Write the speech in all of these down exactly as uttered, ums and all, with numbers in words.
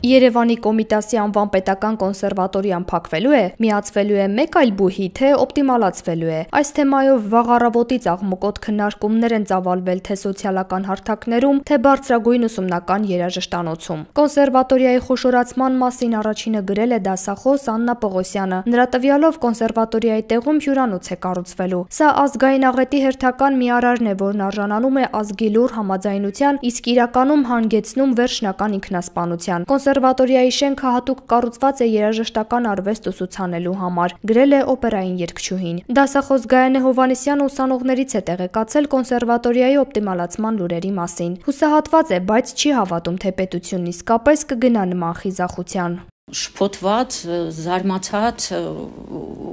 Երևանի Կոմիտասի անվան պետական կոնսերվատորիան փակվելու է, միացվելու է մեկ այլ բուհի, թե օպտիմալացվելու է։ Այս թեմայով վաղ առավոտից աղմկոտ քննարկումներ են ծավալվել թե սոցիալական հարթակներում, թե բարձրագույն ուսումնական երաժշտանոցում։ Կոնսերվատորիայի խոշորացման մասին առաջինը գրել է դասախոս Աննա Պողոսյանը։ Նրա տվյալով կոնսերվատորիայի տեղում հյուրանոց է կառուցվելու։ Սա ազգային աղետի հերթական մի արարն է, որն արժանանում է ազգի լուռ համաձայնության, իսկ իրականում հանգեցնում վերջնական ինքնասպանության։ Կոնսերվատորիայի շենքը հատուկ կառուցված է երաժշտական արվեստ ուսուցանելու համար, գրել է օպերային երգչուհին։ Դասախոս Գայանե Հովհաննիսյանը ուսանողներից է տեղեկացել կոնսերվատորիայի օպտիմալացման լուրերի մասին։ Հուսահատված է, բայց չի հավատում, թե պետությունն իսկապես կգնա նման խիզախության։ Շփոթված, զարմացած,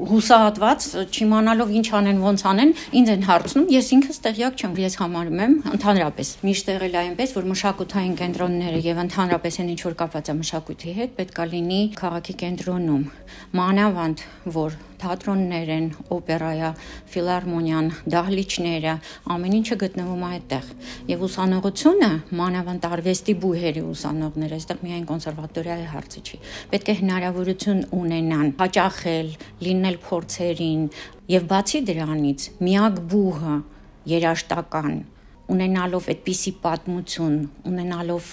հուսահատված, չիմանալով ինչ անեն, ոնց անեն, ինձ են հարցնում, ես ինքս տեղյակ չեմ, ես համարում եմ ընդհանրապես միշտ եղել այնպես, որ մշակութային կենտրոնները եւ ընդհանրապես այն ինչ որ կապված է մշակույթի հետ, պետք է լինի քաղաքի կենտրոնում, մանավանդ որ թատրոններ են, օպերայա, ֆիլհարմոնիան, դահլիճները, ամեն ինչը գտնվում է այդտեղ։ Եվ ուսանողությունը, մանավանդ արվեստի բուհերի ուսանողները, այստեղ միայն կոնսերվատորիայի հարցը չի, պետք է հնարավորություն ունենան հաճախել, լինել փորձերին, եւ բացի դրանից միակ բուհը երաժշտական, ունենալով այդպիսի պատմություն, ունենալով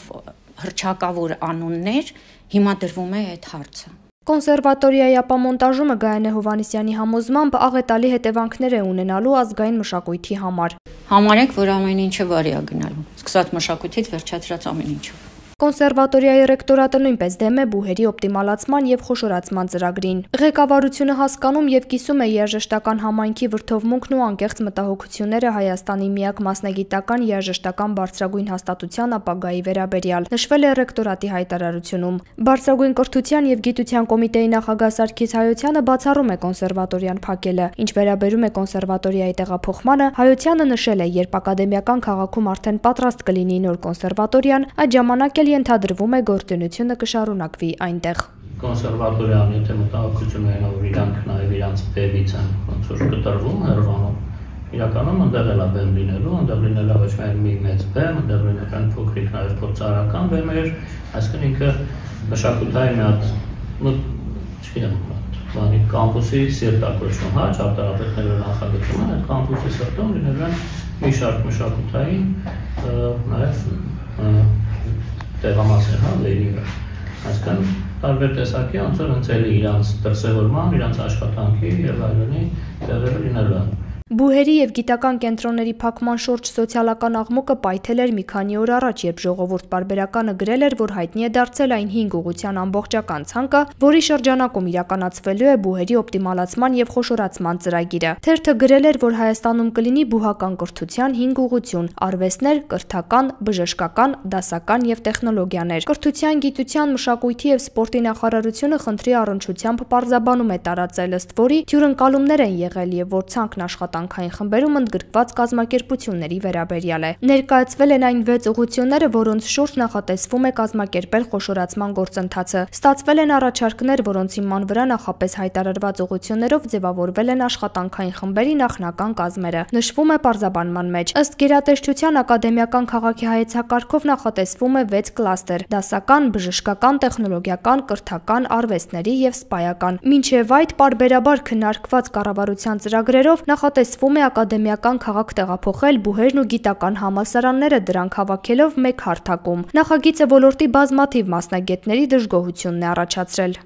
հռչակավոր անուններ, հիմա դրվում է այդ հարցը։ Կոնսերվատորիայի ապամոնտաժումը Գայանե Հովհաննիսյանի համոզմամբ աղետալի հետևանքներ է ունենալու ազգային մշակույթի համար։ Համարեք, որ ամեն ինչը վարի է գնալու, սկսած մշակույթից վերջացրած ամեն ինչով։ Կոնսերվատորիայի ռեկտորատը նույնպես դեմ է բուհերի օպտիմալացման եւ խոշորացման ծրագրին։ Ղեկավարությունը հասկանում եւ կիսում է երաժշտական համայնքի վրդովմունքն ու անկեղծ մտահոգությունները Հայաստանի միակ մասնագիտական երաժշտական բարձրագույն հաստատության ապագայի վերաբերյալ, նշվել է ռեկտորատի հայտարարությունում։ Բարձրագույն կրթության եւ գիտության կոմիտեի նախագահ Սարգիս Հայոցյանը բացառում է կոնսերվատորիան փակելը։ Ինչ վերաբերում է կոնսերվատորիայի տեղափոխմանը, Հայոցյանը նշել է, երբ ակադեմիական քաղաքում արդեն պատրաստ կլինի նոր կոնսերվատորիան, այդ ժամանակ էլ ենթադրվում է գործունեությունը կշարունակվի այնտեղ։ Կոնսերվատորիան, եթե մտահոգություններն որ իրանք նաև իրանց բևից են ոնց որ կտրվում հերվանում, իրականում ընդեղ էլ է բեմ լինելու, ընդեղ լինելա ոչ միայն մի մեծ բեմ, ընդեղ լինել են փոքրիկ նաև փորձարարական բեմեր, այսինքն ինքը մշակութային մի հատ, չգիտեմ, բանի կամպուսի սիրտ ակոչվում, հա, ճարտարապետները նախագծում են, այդ կամպուսի սրտում լինել են մի շարք մշակութային նաև տեղամասեր, հա, վերիվը, այսքան տարբեր տեսակի անցոր ընցելի իրանց դրսևորման, իրանց աշխատանքի և այլնի տեղերը լինելու են։ Բուհերի եւ գիտական կենտրոնների փակման շուրջ սոցիալական աղմուկը պայթել էր մի քանի օր առաջ, երբ Ժողովուրդ պարբերականը գրել էր, որ հայտնի է դարձել այն հինգ ուղղության ամբողջական ցանկը, որի շրջանակում իրականացվելու է բուհերի օպտիմալացման եւ խոշորացման ծրագիրը։ Թերթը գրել էր, որ Հայաստանում կլինի բուհական կրթության հինգ ուղղություն՝ արվեստներ, կրթական, բժշկական, դասական եւ տեխնոլոգիաներ։ Կրթության, գիտության, մշակույթի եւ սպորտի նախարարությունը խնդրի առնչությամբ պարզաբանում է տարածել, ըստ որի հյուրընկալումներ են եղել եւ որ ցանկն աշխատանքային խմբերում ընդգրկված կազմակերպությունների վերաբերյալ է։ Ներկայացվել են այն վեց ուղղությունները, որոնց շուրջ նախատեսվում է կազմակերպել խոշորացման գործընթացը։ Ստացվել են առաջարկներ, որոնց հիման վրա նախապես հայտարարված ուղղություններով ձևավորվել են աշխատանքային խմբերի նախնական կազմերը։ Նշվում է պարզաբանման մեջ։ Ըստ գերատեսչության ակադեմիական քաղաքի հայեցակարգով նախատեսվում է վեց կլաստեր՝ դասական, բժշկական, տեխնոլոգիական, կրթական, արվեստների եւ սպայական։ Մինչև այդ պարբերաբար քննարկված կառավարության ծրագրերով նախատեսվում է ակադեմիական քաղաք տեղափոխել բուհերն ու գիտական համալսարանները, դրանք հավաքելով մեկ հարթակում։ Նախագիծը ոլորտի բազմաթիվ մասնագետների դժգոհությունն է առաջացրել։